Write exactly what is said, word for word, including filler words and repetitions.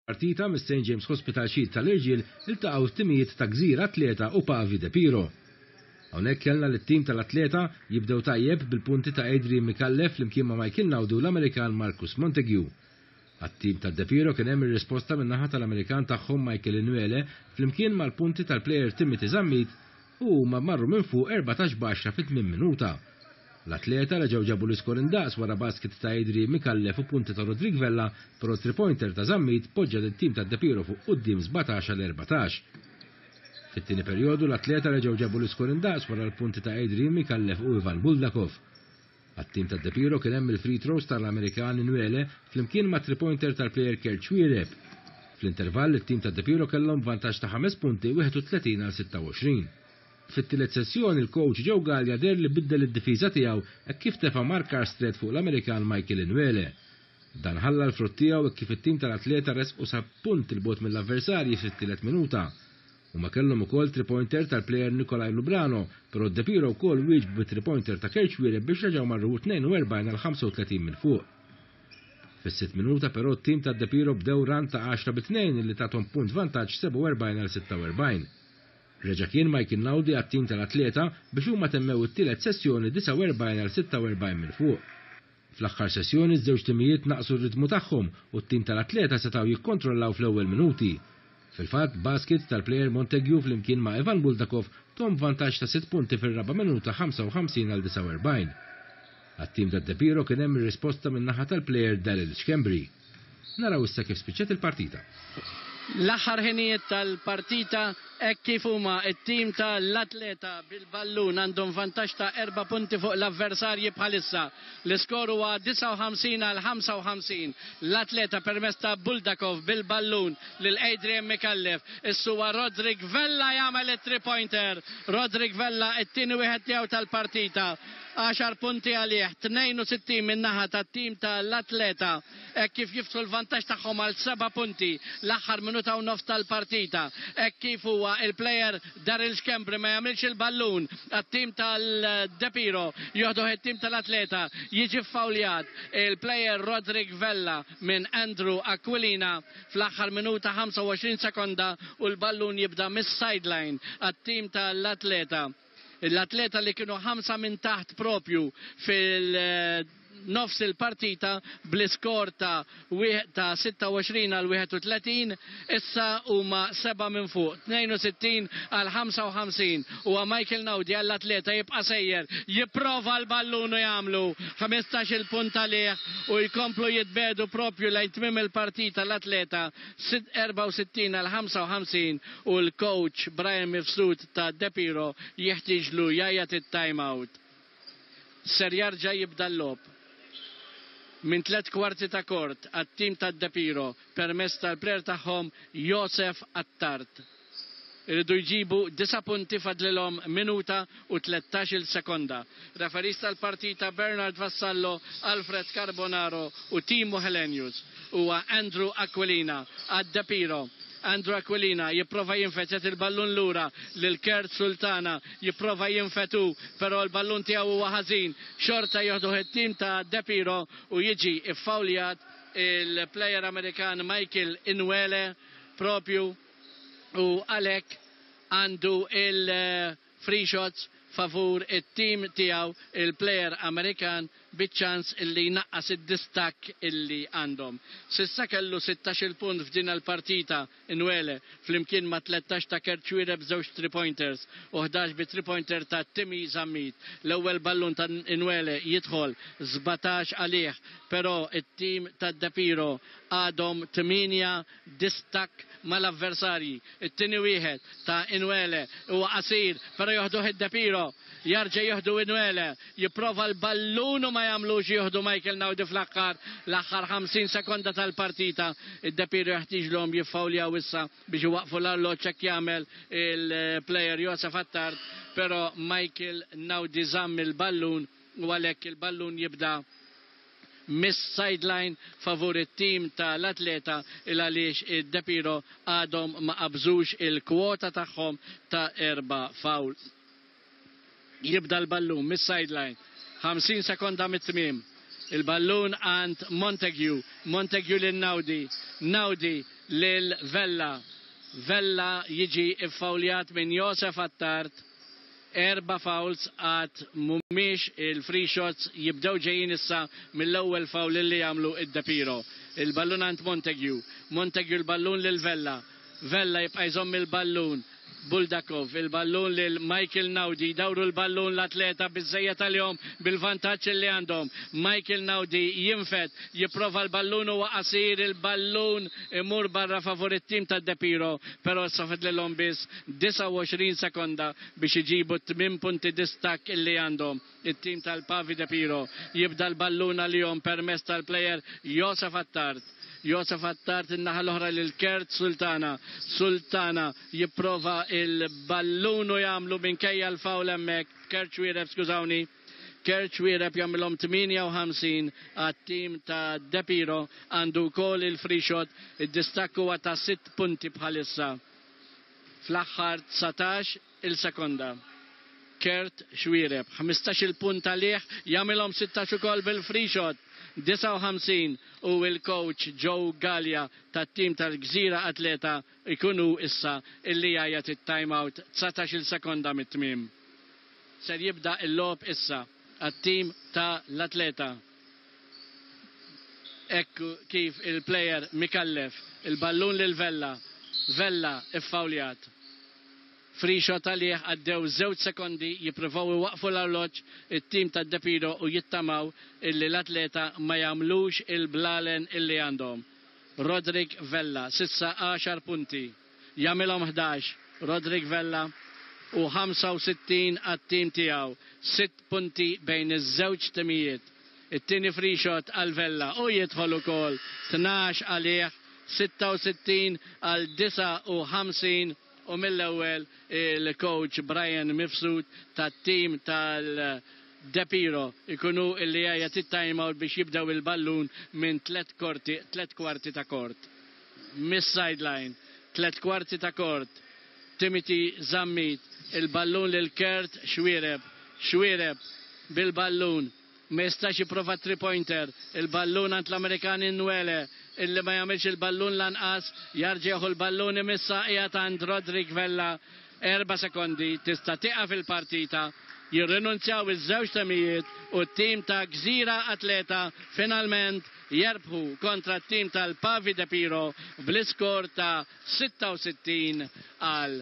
Partita mis-Saint James Hospital Shield tal-irġiel, iltaqgħu t-timijiet ta' Gżira Athleta u Pavi Depiro. Hawnhekk kellna lit-tim tal-Athleta jibdew tajjeb bil-punti ta' Adrian Micallef flimkien ma' Michael Naudu, l-Amerikan Marcus Montague. Għat-tim ta' Depiro kien hemm ir-risposta min-naħa tal-Amerikan tagħhom Michael Inuele flimkien mal-punti tal-player Timothy Zammit u huma marru minn fuq erbatax b'għaxra fit-tmien minuta. L-Athleta reġgħu ġabu l-iskor indaqs wara basket ta' Adrian Micallef u punti ta' Rodrik Vella, però three-pointer ta' Zammit poġġa lit-tim ta' Depiro fuq quddiem sbatax għal erbatax. Fit-tieni perjodu l-Athleta reġgħu ġabu l-iskor indaqs wara l-punti ta' Adrian Micallef u Ivan Buldakov. Għat-tim ta' Depiro kien hemm il-free throws tal-Amerikan Inuele flimkien ma' three-pointer tal-player Kurt Xuereb. Fl-intervall it-tim ta' Depiro kellhom vantaġġ ta' ħames punti, wieħed u tletin għal sitta u għoxrin. Fit-tielet sessjoni il-coach Joe Gallia deher li biddel id-difiża tiegħu hekk kif tefa' markar strett fuq l-Amerikan Michael Inuele. Dan ħalla l-frott tiegħu hekk kif it-tim tal-Athleta resqu sa punt 'il bogħod mill-avversarji fit-tielet minuta. Huma kellhom ukoll three-pointer tal-player Nikolaj Lubrano, però Depiro wkoll wieġbu bi three-pointer ta' Kurt Xuereb biex reġgħu marru tnejn u erbgħin għal ħamsa u tletin minn fuq. Fis-sitt minuta però t-tim ta' Depiro bdew run ta' għaxra bi tnejn li tathom punt vantaġġ, sebgħa u erbgħin għal sitta u erbgħin. Reġa' kien Michael Naudi għat-tim tal-Athleta biex huma temmew it-tielet sessjoni disgħa u erbgħin għal sitta u erbgħin minn fuq. Fl-aħħar sessjoni ż-żewġ timijiet naqsu r-ritmu tagħhom u t-tim tal-Athleta setgħu jikkontrollaw fl-ewwel minuti. Fil-fatt, basket tal-player Montague flimkien ma' Ivan Buldakov tahom vantaġġ ta' sitt punti fir-raba' minuta, ħamsa u ħamsin għal disgħa u erbgħin. Għat-tim ta' Depiro kien hemm ir-risposta min-naħa tal-player Daryl Schembri. Naraw issa kif spiċċat il-partita. L-aħħar ħinijiet tal-partita hekk kif huma it-tim tal-Athleta bil-ballun, għandhom vantaġġ ta' erba' punti fuq l-avversarji bħalissa. L-iskor huwa disgħa u ħamsin għal ħamsa u ħamsin. L-Athleta permezz ta' Buldakov bil-ballun lil Adrian Micallef. Issuwa Rodrik Vella jagħmel it-three pointer. Rodrik Vella, it-tieni wieħed tiegħu tal-partita. għaxar punti għalih, tnejn u sittin min-naħa tat-tim tal-Athleta, hekk kif jiftħu l-vantaġġ tagħhom għal seba' punti l-aħħar minuta u nofs tal-partita. Hekk kif huwa il-player Daryl Schembri, ma jagħmilx il-ballun għat-tim tal-Depiro, joħduh it-tim tal-Athleta, jiġi fawljat il-player Rodrik Vella minn Andrew Aquilina fl-aħħar minuta ħamsa u għoxrin sekonda u l-ballun jibda mis-sideline għat-tim tal-Athleta. L-Athleta li kienu ħamsa minn taħt propju fil- nofs il-partita bl-iskor ta' ta' sitta u għoxrin għal wieħed u tletin, issa huma seba' minn fuq, tnejn u sittin għal ħamsa u ħamsin. U Michael Naudi għall-Athleta jibqa' sejjer, jipprova l-ballun u jagħmlu ħmistax il-punt għalih u jkomplu jitbedu propju lejn tmiem il-partita l-Athleta, erbgħa u sittin għal ħamsa u ħamsin, u l-coach Brian Mifsud ta' Depiro jeħtieġlu jgħajjat it-time out. Ser jarġa' jibda l-logħob minn tliet kwarti ta' kort għat-tim ta' Depiro permezz tal-player tagħhom Josef Attard. Iridu jġibu disa' punti, fadlilhom minuta u tlettax-il sekonda. Referis tal-partita Bernard Vassallo, Alfred Carbonaro u Timo Helenius. Huwa Andrew Aquilina għad Depiro. Andrew Aquilina jipprova jinfet il-ballun lura lil Kurt Sultana, jipprova jinfetu, però l-ballun tiegħu huwa ħażin. Xorta joħdu it-tim ta' Depiro u jiġi iffawljat il-player Amerikan Michael Inuele propju u għalhekk għandu il-free shots favur it-tim tiegħu il-player Amerikan biċ-ċans illi jnaqqas id-distakk illi għandhom. S'issa kellu sittax-il punt f'din il-partita Inuele flimkien ma' tlettax ta' Kurt Xuereb b'żewġ three pointers u ħdax bi three pointer ta' Timmy Zammit. L-ewwel ballun ta' Inuele jidħol, sbatax għalih, però it-tim ta' Depiro għadhom tmienja distakk mal-avversarji. It-tieni wieħed ta' Inuele huwa qasir, però joħduh id-Depiro. Jarġa' jieħdu Inuele, jipprova l-ballun u ma jagħmlux, jieħdu Michael Naudi fl-aħħar l-aħħar ħamsin sekonda tal-partita. Id-Depiro jeħtieġlhom jiffawljaw issa biex iwaqfu l-arloġġ, hekk jagħmel il-player Josef Attard, però Michael Naudi żamm il-ballun u għalhekk il-ballun jibda mis-sideline favur it-tim tal-Athleta, il għaliex id-Depiro għadhom ma qabżux il-kwota tagħhom ta' erba' foul. Jibda l-ballun mis-sideline. ħamsin sekonda mit-tmiem. Il-ballun għand Montague, Montague lil Naudi, Naudi lil Vella. Vella jiġi iffawljat minn Josef Attard. Erba fouls għad mhumiex, il-free shots jibdew ġejjin issa mill-ewwel foul li jagħmlu id-Depiro. Il-ballun għand Montague, Montague il-ballun lil Vella. Vella jibqa' jżomm il-ballun. Buldakov, il-ballun lil Michael Naudi, dawru l-ballun l-Atleta biżżejjed għalihom bil-vantaġġ li għandhom. Michael Naudi jinfed, jipprova l-ballun, huwa qasir, il-ballun imur barra favur it-tim ta' Depiro, però issa fadlilhom biss disgħa u għoxrin sekonda biex iġibu tmien punti distakk illi għandhom. It-tim tal-Pavi Depiro jibda l-ballun għalihom permezz tal-player Josef Attard. Josef Attard in-naħa l-oħra lil Kert Sultana. Sultana jipprova il-ballun u jagħmlu minkejja l-foul hemmhekk. Kert Xuereb, skużawni. Kert Xuereb jagħmilhom tmienja u ħamsin għat-tim ta' Depiro, għandu wkoll il-free shot, id-distakk huwa ta' sitt punti bħalissa. Fl-aħħar dsatax il-sekonda. Kert Xuereb, ħmistax il-punt għalih, jagħmilhom sittax ukoll bil-free shot. disgħa u ħamsin u il-coach Joe Gallia tat-tim tal-Gżira Atleta ikunu issa illi jgħajjat it-timeout dsatax il sekonda mit-tmiem. Ser jibda il-logħob issa għat-tim ta' l-Atleta. Ekku kif il-player Mikallef, il-ballun lil Vella, Vella iffawljat. Free shot għalih, għaddew żewġ sekondi, jippruvaw iwaqfu l-arloġġ it-tim ta' Depiro u jittamaw illi l-Atleta ma jagħmlux il-blalen illi għandhom. Rodrik Vella, s'issa għaxar punti, jagħmilhom ħdax, Rodrik Vella u ħamsa u sittin għat-tim tiegħu, sitt punti bejn iż-żewġ timijiet. It-tieni free shot għal Vella u jidħol ukoll, tnax għalih, sitta u sittin għal disgħa u ħamsin, u mill-ewwel il-coach Brian Mifsud tat-tim tal-Depiro ikunu illi jgħajjat it-timeout biex jibdew il-ballun minn tlet korti, tlet kwarti ta' kort. Miss sideline, tlet kwarti ta' kort. Timothy Zammit, il-ballun lil Kert Xuereb, Xuereb bil-ballun, ma jistax jipprova three pointer, il-ballun għand l-Amerikan Nwele, illi ma jagħmilx il-ballun lanqas, jerġa' l-ballun imissa qiegħed għand Rodrik Vella, erba' sekondi, tista' tieqaf il-partita, jirrinunzjaw iż-żewġ timijiet u t-tim ta' Gżira Atleta finalment jerbħu kontra t-tim tal-Pavi De Piro bl-iskor ta' sitta u sittin għal